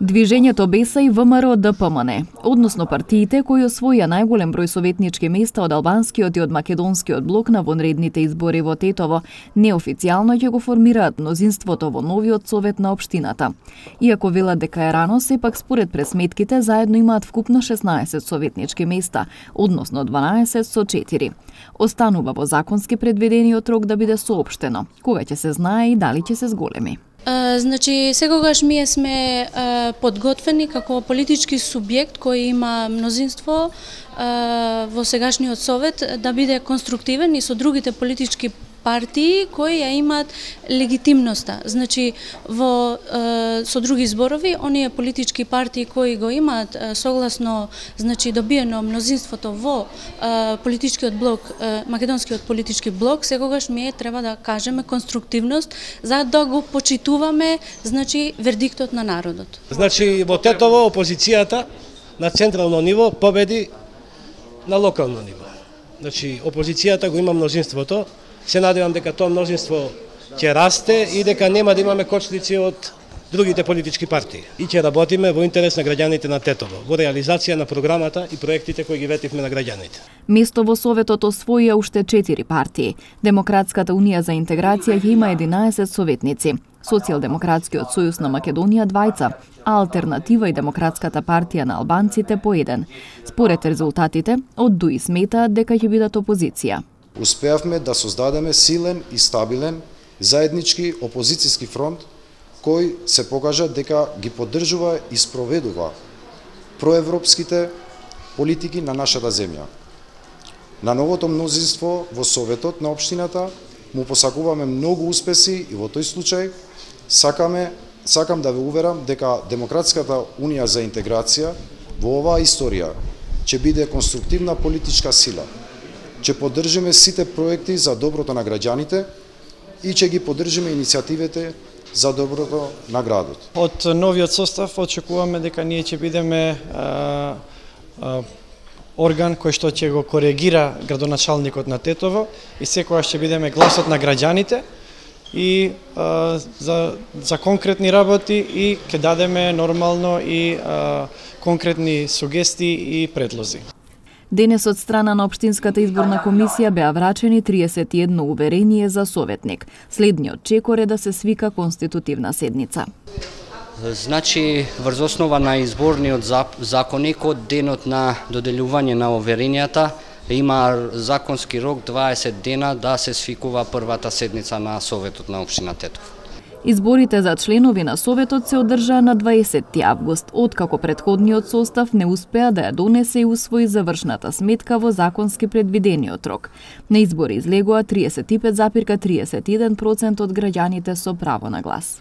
Движењето Беса и ВМРО ДПМН, односно партиите кои освоија најголем број советнички места од албанскиот и од македонскиот блок на вонредните избори во Тетово, неофицијално ќе го формираат мнозинството во новиот совет на општината. Иако велат дека е рано, сепак според пресметките заедно имаат вкупно 16 советнички места, односно 12 со 4. Останува во законски предвидениот рок да биде соопштено, кога ќе се знае и дали ќе се зголеми. Значи, секогаш ние сме подготвени како политички субјект кој има мнозинство во сегашниот совет да биде конструктивен и со другите политички партии кои ја имаат легитимноста. Значи, со други зборови, оние политички партии кои го имаат согласно добиено мнозинството во политичкиот блок, македонскиот политички блок, секогаш ние треба да кажеме конструктивност за да го почитуваме вердиктот на народот. Значи, во Тетово опозицијата на централно ниво победи на локално ниво. Значи, опозицијата го има мнозинството. Се надевам дека тоа мнозинство ќе расте и дека нема да имаме кочлици од другите политички партии. И ќе работиме во интерес на граѓаните на Тетово, во реализација на програмата и проектите кои ги ветивме на граѓаните. Место во Советот освоија уште 4 партии. Демократската унија за интеграција ќе има 11 советници. Социјалдемократскиот сојуз на Македонија 2, а Алтернатива и Демократската партија на албанците по 1. Според резултатите, од ДУИ сметаат дека ќе бидат опозиција. Успеавме да создадеме силен и стабилен заеднички опозицијски фронт кој се покажа дека ги поддржува и спроведува проевропските политики на нашата земја. На новото мнозинство во Советот на општината му посакуваме многу успеси и во тој случај сакам да ве уверам дека Демократската унија за интеграција во оваа историја ќе биде конструктивна политичка сила. Ќе поддржиме сите проекти за доброто на граѓаните и ќе ги поддржиме иницијативите за доброто на градот. Од новиот состав очекуваме дека ние ќе бидеме орган кој што ќе го коригира градоначалникот на Тетово и секогаш ќе бидеме гласот на граѓаните и за конкретни работи и ќе дадеме нормално и конкретни сугестии и предлози. Денес од страна на Општинската изборна комисија беа врачени 31 уверение за советник. Следниот чекор е да се свика конститутивна седница. Значи, врз основа на изборниот законник од денот на доделување на уверенијата има законски рок 20 дена да се свикува првата седница на Советот на општина Тетово. Изборите за членови на Советот се одржаа на 20 август, откако претходниот состав не успеа да ја донесе и усвои завршната сметка во законски предвидениот рок. На избори излегоа 35,31% од граѓаните со право на глас.